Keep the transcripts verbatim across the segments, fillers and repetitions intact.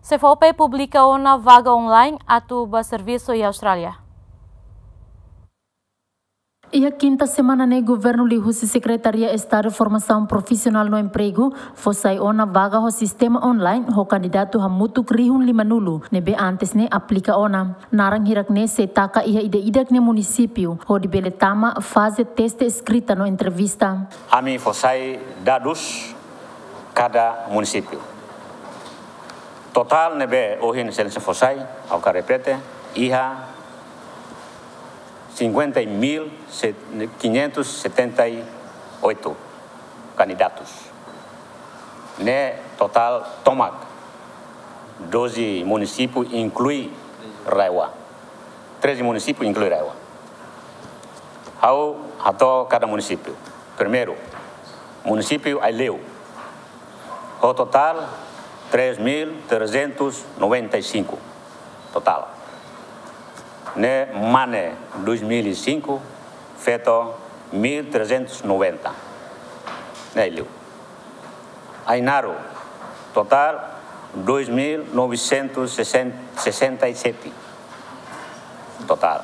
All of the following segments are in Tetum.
SEFOPE publika ona vaga online atu ba servisu iha Austrália. Iha kinta semana ne'e, governu liuhusi Sekretaria Estadu Formasaun Profisionál no Empregu fó sai ona vaga ho sistema online ho kandidatu hamutuk rihun limanulu ne'ebé antes ne'e aplika ona. Naran hirak ne'e sei taka iha ida-idak nia munisípiu hodi bele tama faze teste eskrita no entrevista. Ami fó sai dadus kada munisípiu. Totál ne'ebé ohin Sua Exelénsia fó sai, ha'u hakarak repete, iha cinquenta mil quinhentos e setenta e oito candidatos. Ne'e totál tomak, doze munisípiu inklui RAEOA. Treze munisípiu inklui RAEOA. Ha'u hato'o kada munisípiu. Primeiru, munisípiu Aileu. Ho totál três mil trezentos noventa e cinco. Totál. Ne'e mane dois mil e cinco, feto mil trezentos noventa. Ne'e Aileu. Ainaro, totál dois mil novecentos e sessenta e sete. Totál.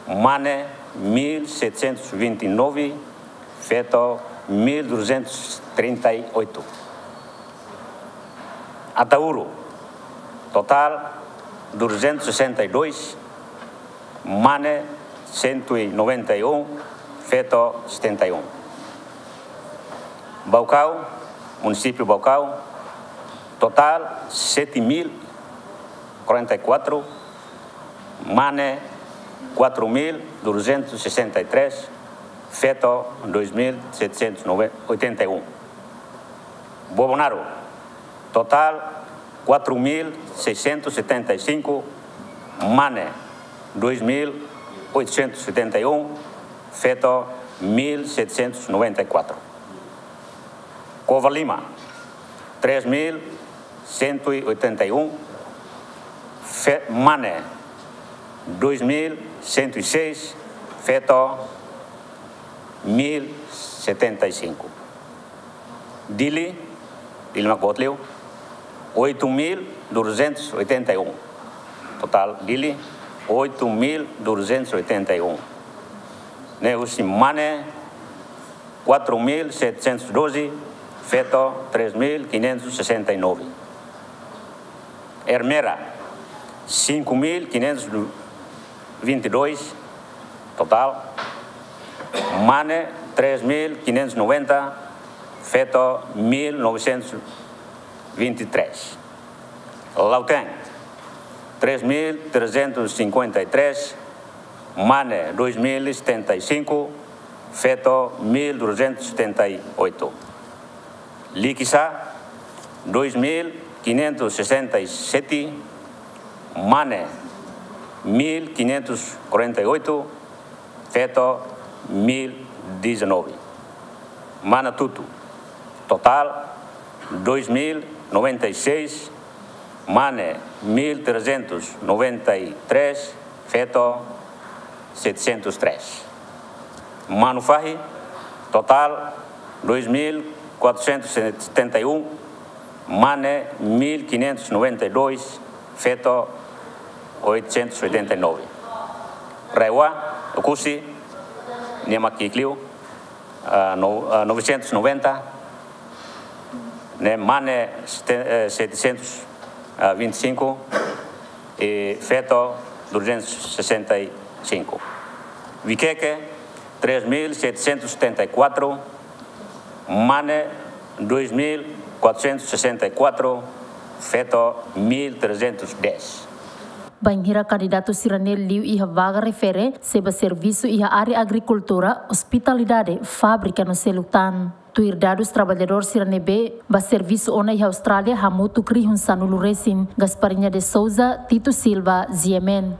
Mane mil setecentos e vinte e nove, feto mil duzentos e trinta e oito. Ataúro, totál duzentos e sessenta e dois, mane cento e noventa e um, feto setenta e um. Baucau, munisípiu Baucau, totál sete mil quarenta e quatro, mane quatro mil duzentos e sessenta e três, feto dois mil setecentos e oitenta e um. Bobonaro, totál quatro mil seiscentos e setenta e cinco, mane dois mil oitocentos e setenta e um, feto mil setecentos e noventa e quatro. Covalima, três mil cento e oitenta e um, fe-, mane dois mil cento e seis, feto mil setenta e cinco. Dili, Dili mak boot liu, oito mil duzentos e oitenta e um. Totál Dili, oito mil duzentos e oitenta e um. Ne'e husi mane quatro mil setecentos e doze, feto três mil quinhentos e sessenta e nove. Ermera, cinco mil quinhentos e vinte e dois, totál. Mane, três mil quinhentos e noventa, feto, mil novecentos e vinte e três. Lautém, três mil trezentos e cinquenta e três, mane, dois mil e setenta e cinco, feto, mil duzentos e setenta e oito. Likisá, dois mil quinhentos e sessenta e sete, mane, mil quinhentos e quarenta e oito, feto, mil e dezanove. Manatuto, totál, dois mil noventa e seis, mane, mil trezentos e noventa e três, feto, setecentos e três. Manufahi, totál, dois mil quatrocentos e setenta e um, mane, mil quinhentos e noventa e dois, feto, oitocentos e oitenta e nove. RAEOA, Oekusi, nia mak ki'ik liu, ah, no-, ah, novecentos e noventa, ne'e mane sete-, eh, setecentos e vinte e cinco, e feto duzentos e sessenta e cinco. Viqueque, três mil setecentos e setenta e quatro, mane dois mil quatrocentos e sessenta e quatro, feto mil trezentos e dez. Bainhira kandidatu sira-ne'e liu iha vaga refere, sei ba servisu iha área agrikultura, ospitalidade, fábrika no seluk tan. Tuir dadus, traballadór sira ne'ebé ba servisu ona iha Austrália hamutuk rihun sanulu-resin. Gasparinha de Souza, Tito Silva, G M N.